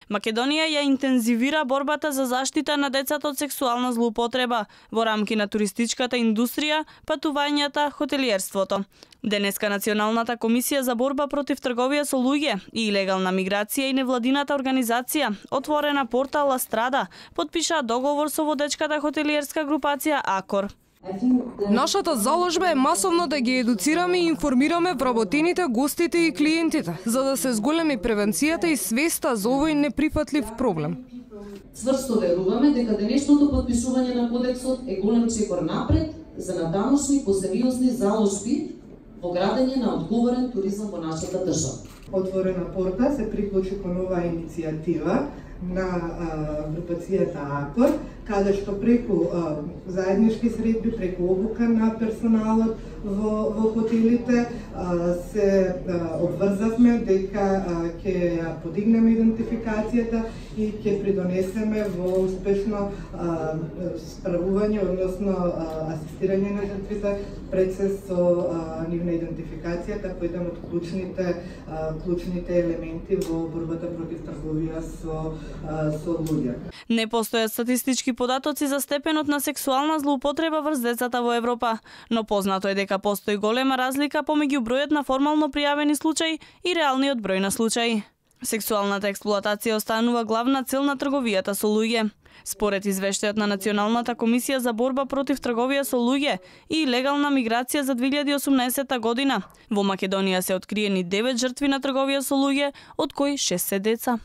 Македонија ја интензивира борбата за заштита на децата од сексуална злоупотреба во рамки на туристичката индустрија, патувањата, хотелиерството. Денеска Националната комисија за борба против трговија со луѓе и илегална миграција и невладината организација Отворена порта Ла Страда потпишаа договор со водечката хотелиерска групација АКОР. Нашата заложба е масовно да ги едуцираме и информираме вработените, гостите и клиентите, за да се зголеми превенцијата и свеста за овој неприфатлив проблем. Цврсто веруваме дека денешното потпишување на кодексот е голем чекор напред за надамошни посериозни заложби во градење на одговорен туризам во нашата држава. Отворена порта се приклучи кон оваа иницијатива на групацијата АКОР, каде што преку заеднички средби, преку обука на персоналот во хотелите се обврзавме дека ќе ја подигнеме идентификацијата и ќе придонесеме во успешно справување, односно асистирање на жртвите пред се со нивна идентификација, како еден од клучните елементи во борбата против трговија со луѓе. Не постојат статистички податоци за степенот на сексуална злоупотреба врз децата во Европа, но познато е дека постои голема разлика помеѓу бројот на формално пријавени случаи и реалниот број на случаи. Сексуалната експлоатација останува главна цел на трговијата со луѓе. Според извештајот на Националната комисија за борба против трговија со луѓе и легална миграција за 2018 година, во Македонија се откриени 9 жртви на трговија со луѓе, од кои 6 се деца.